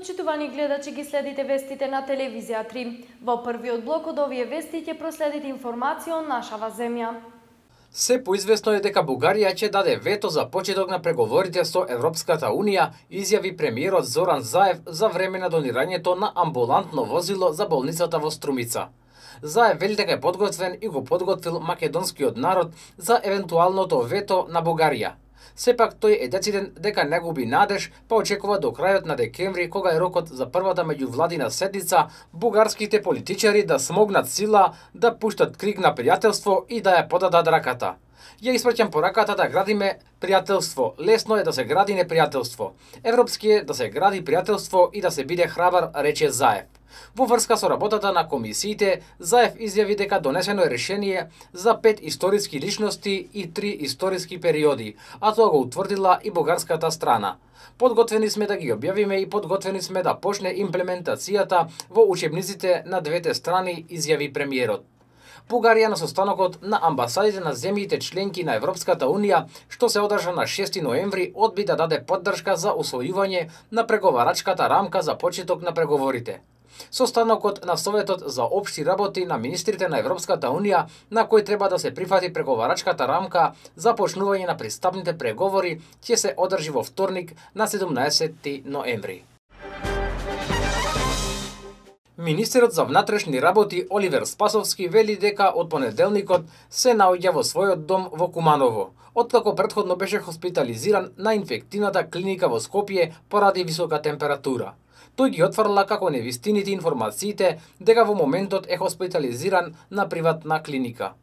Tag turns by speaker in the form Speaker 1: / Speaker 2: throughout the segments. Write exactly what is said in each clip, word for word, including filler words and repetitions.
Speaker 1: Почитувани гледачи, ги следите вестите на телевизија три. Во првиот блок од овие вести ќе проследите информација од нашава земја.
Speaker 2: Се поизвестно е дека Бугарија ќе даде вето за почеток на преговорите со Европската Унија, изјави премиерот Зоран Заев за време на донирањето на амбулантно возило за болницата во Струмица. Заев вели дека е подготвен и го подготвил македонскиот народ за евентуалното вето на Бугарија. Сепак тој е дециден дека не губи надеж, па очекува до крајот на декември, кога е рокот за првата меѓувладина седница, бугарските политичари да смогнат сила, да пуштат крик на пријателство и да ја подадат раката. Ја испраќам пораката да градиме пријателство. Лесно е да се гради непријателство. Европски е да се гради пријателство и да се биде храбар, рече Заев. Во врска со работата на комисиите, Заев изјави дека донесено е решение за пет историски личности и три историски периоди, а тоа го утврдила и бугарската страна. Подготвени сме да ги објавиме и подготвени сме да почне имплементацијата во учебниците на двете страни, изјави премиерот. Бугарија на состанокот на амбасадите на земјите членки на Европската Унија, што се одржа на шести ноември, одби да даде поддршка за усвојување на преговарачката рамка за почеток на преговорите. Состанокот на Советот за општи работи на министрите на Европската Унија, на кој треба да се прифати преговарачката рамка за почнување на пристапните преговори, ќе се одржи во вторник на седумнаесети ноември. Министерот за внатрешни работи Оливер Спасовски вели дека од понеделникот се наоѓа во својот дом во Куманово, откако претходно беше хоспитализиран на инфективната клиника во Скопје поради висока температура. Тој ги отфрла како невистините информациите дека во моментот е хоспитализиран на приватна клиника.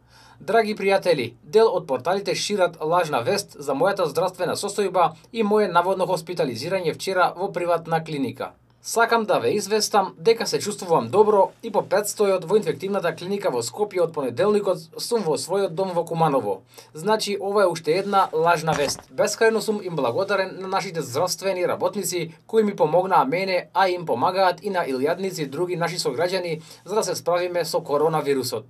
Speaker 2: Драги пријатели, дел од порталите шират лажна вест за мојата здравствена состојба и моје наводно хоспитализирање вчера во приватна клиника. Сакам да ве известам дека се чувствувам добро и по предстојот во инфективната клиника во Скопје од понеделникот сум во својот дом во Куманово. Значи, ова е уште една лажна вест. Бескрајно сум им благодарен на нашите здравствени работници кои ми помогнаа мене, а им помагаат и на илјадници и други наши сограѓани за да се справиме со коронавирусот.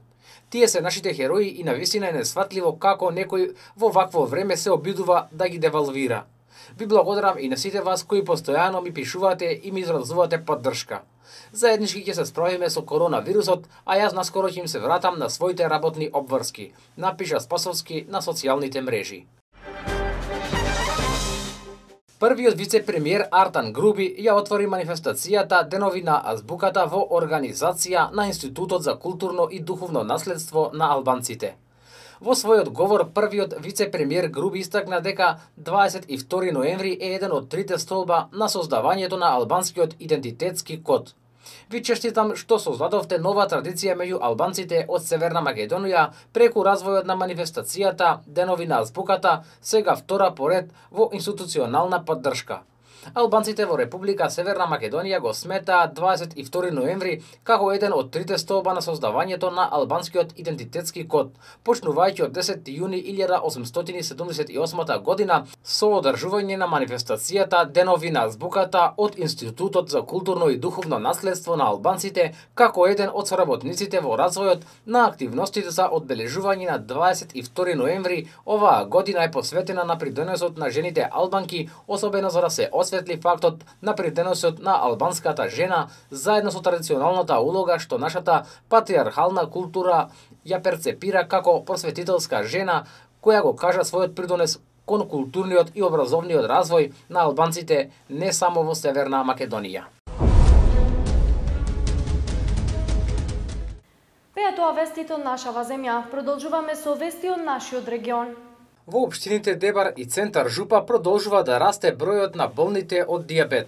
Speaker 2: Тие се нашите херои и навистина е несфатливо како некој во вакво време се обидува да ги девалвира. Ви благодарам и на сите вас кои постојано ми пишувате и ми изразувате поддршка. Заеднички ќе се справиме со коронавирусот, а јас наскоро ќе им се вратам на своите работни обврски, напиша Спасовски на социјалните мрежи. Првиот вице-премиер Артан Груби ја отвори манифестацијата Денови на азбуката во организација на Институтот за културно и духовно наследство на албанците. Во својот говор, првиот вице-премиер Груби истакна дека дваесет и втори ноември е еден од трите столба на создавањето на албанскиот идентитетски код. Ви честитам што создадовте нова традиција меѓу албанците од Северна Македонија преку развојот на манифестацијата Денови на азбуката, сега втора поред во институционална поддршка. Албанците во Република Северна Македонија го сметаат дваесет и втори ноември како еден од трите столба на создавањето на албанскиот идентитетски код, почнувајќи од десети јуни илјада осумстотини седумдесет и осма година со одржување на манифестацијата Денови на азбуката од Институтот за културно и духовно наследство на албанците како еден од соработниците во развојот на активностите за одбележување на дваесет и втори ноември. Оваа година е посветена на придонесот на жените албанки, особено за да се осветли фактот на придонесот на албанската жена заедно со традиционалната улога што нашата патриархална култура ја перцепира како просветителска жена која го кажа својот придонес кон културниот и образовниот развој на албанците не само во Северна Македонија.
Speaker 1: Беа тоа вестите од нашава земја. Продолжуваме со вести од нашиот регион.
Speaker 2: Во општините Дебар и Центар Жупа продолжува да расте бројот на болните од дијабет.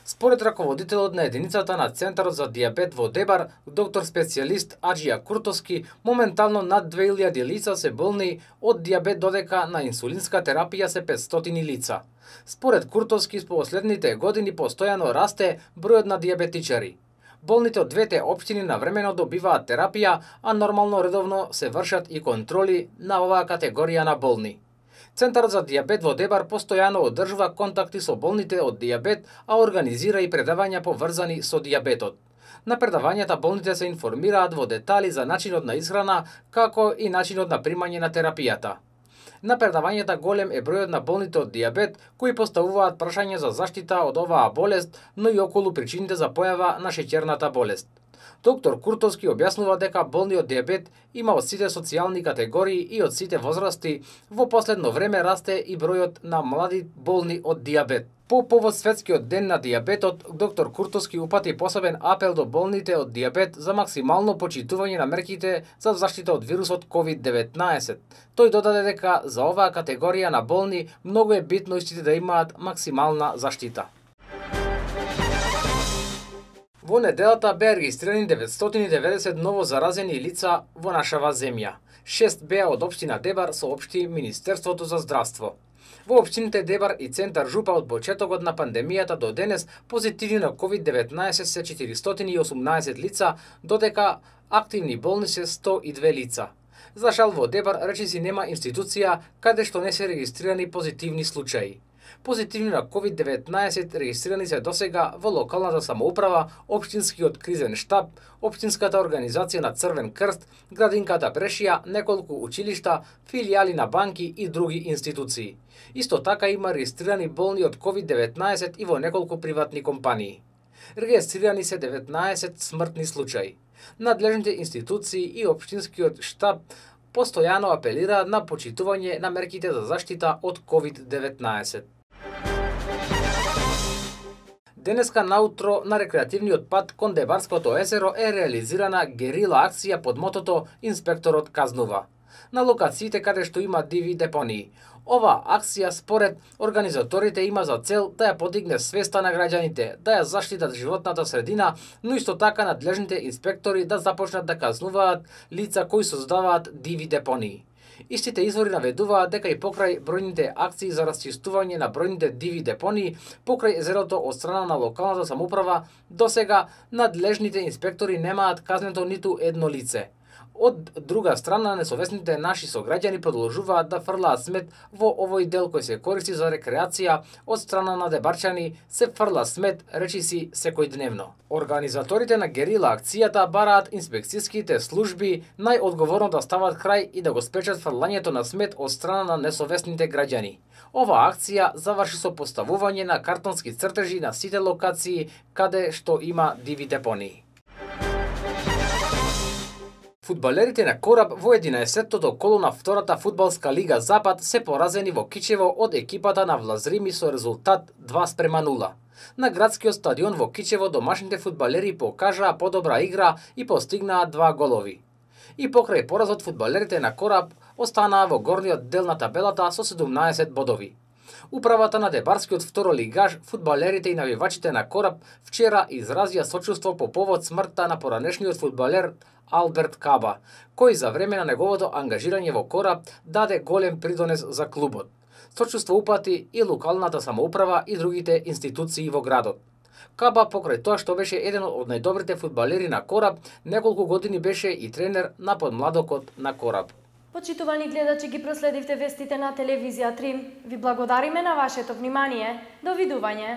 Speaker 2: Според раководителот на единицата на Центарот за дијабет во Дебар, доктор специјалист Аџија Куртовски, моментално над две илјади лица се болни од дијабет, додека на инсулинска терапија се петстотини лица. Според Куртовски, по последните години постојано расте бројот на дијабетичари. Болните од двете општини навремено добиваат терапија, а нормално редовно се вршат и контроли на оваа категорија на болни. Центарот за дијабет во Дебар постојано одржува контакти со болните од дијабет, а организира и предавања поврзани со дијабетот. На предавањата болните се информираат во детали за начинот на исхрана, како и начинот на примање на терапијата. На предавањата голем е бројот на болните од дијабет кои поставуваат прашање за заштита од оваа болест, но и околу причините за појава на шеќерната болест. Доктор Куртовски објаснува дека болни од дијабет има од сите социјални категории и од сите возрасти. Во последно време расте и бројот на млади болни од дијабет. По повод Светскиот ден на дијабетот, доктор Куртовски упати посебен апел до болните од дијабет за максимално почитување на мерките за заштита од вирусот ковид деветнаесет. Тој додаде дека за оваа категорија на болни многу е битно истите да имаат максимална заштита. Во неделата беа регистрирани деветстотини и деветдесет ново заразени лица во нашава земја. Шест беа од општина Дебар, соопшти Министерството за здравство. Во општините Дебар и Центар Жупа од почетокот на пандемијата до денес позитивни на ковид деветнаесет се четиристотини и осумнаесет лица, додека активни болни се сто и две лица. За жал во Дебар речиси нема институција каде што не се регистрирани позитивни случаи. Позитивни на ковид деветнаесет регистрирани се досега во локалната самоуправа, општинскиот кризен штаб, општинската организација на Црвен крст, градинката Прешија, неколку училишта, филијали на банки и други институции. Исто така има регистрирани болни од ковид деветнаесет и во неколку приватни компании. Регистрирани се деветнаесет смртни случаи. Надлежните институции и општинскиот штаб постојано апелираат на почитување на мерките за заштита од ковид деветнаесет. Денеска наутро на рекреативниот пат кон Дебарското езеро е реализирана герила акција под мотото Инспекторот казнува на локациите каде што има диви депонии. Ова акција според организаторите има за цел да ја подигне свеста на граѓаните, да ја заштитат животната средина, но исто така надлежните инспектори да започнат да казнуваат лица кои создаваат диви депонии. Истите извори наведуваат дека и покрај бројните акции за расчистување на бројните диви депонии покрај езерото од страна на локалната самоуправа, досега надлежните инспектори немаат казнето ниту едно лице. Од друга страна, несовесните наши сограѓани продолжуваат да фрлаат смет во овој дел кој се користи за рекреација од страна на дебарчани, се фрла смет, речиси, секојдневно. Организаторите на герила акцијата бараат инспекцијските служби најодговорно да стават крај и да го спречат фрлањето на смет од страна на несовесните граѓани. Ова акција заврши со поставување на картонски цртежи на сите локации каде што има диви депонии. Фудбалерите на Кораб во единаесеттото коло на втората фудбалска лига Запад се поразени во Кичево од екипата на Влазрими со резултат два спрема нула. На градскиот стадион во Кичево домашните фудбалери покажаа подобра игра и постигнаа два голови. И покрај поразот фудбалерите на Кораб останаа во горниот дел на табелата со седумнаесет бодови. Управата на Дебарскиот второлигаш, фудбалерите и навивачите на Кораб вчера изразија сочувство по повод смртта на поранешниот фудбалер Алберт Каба, кој за време на неговото ангажирање во Кораб даде голем придонес за клубот. Сочувство упати и локалната самоуправа и другите институции во градот. Каба, покрај тоа што беше еден од најдобрите фудбалери на Кораб, неколку години беше и тренер на подмладокот на Кораб.
Speaker 1: Почитувани гледачи, ги проследивте вестите на телевизија три. Ви благодариме на вашето внимание. Довидување.